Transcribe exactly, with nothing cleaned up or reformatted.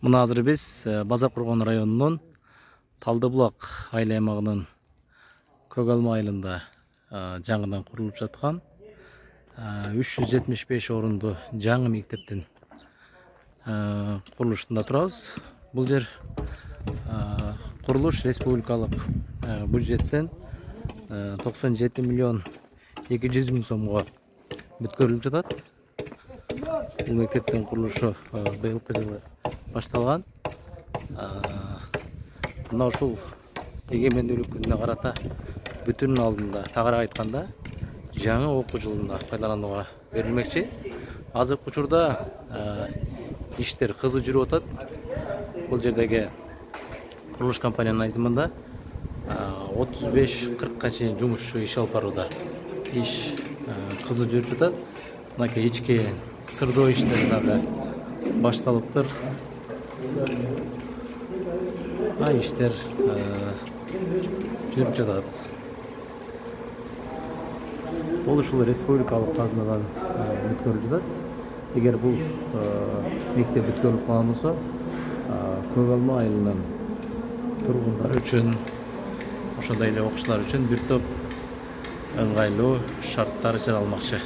Мына азыр биз Базар Кургон районунун Талдыбулак айыл аймагынын Көк Алма айылында жаңыдан курулуп жаткан үч жүз жетимиш беш орунду жаңы мектептин курулушунда турабыз. Бул жер курулуш республикалык бюджеттен токсон жети миллион эки жүз миң сомго бүткөрүлүп жатат. Бул мектептин курулушу быйылкы жылы башталган. Мына ушул эгемендүүлүк күнүнө карата бүтүн алдында тагыраак айтканда жаңы окуу жылында пайдаланууга берилмекчи. Азыркы учурда иштер кызуу жүрүп атат. Бул жердеги курулуш компаниянын айтымында отуз беш кыркка чейин жумушчу иш алып барууда. Иш кызуу жүрүп жатат. Мынакей ички сырдоо иштери дагы башталыптыр. Ай иштер жүрүп жатат. Бул ушул республикалык казынадан бүткөрүлүп жатат. Эгер бул мектеп бүткөрүлүп калган болсо, Көк Алма айылынын тургундары үчүн, ошондой эле окуучулар үчүн бир топ ыңгайлуу шарттар жаралмакчы.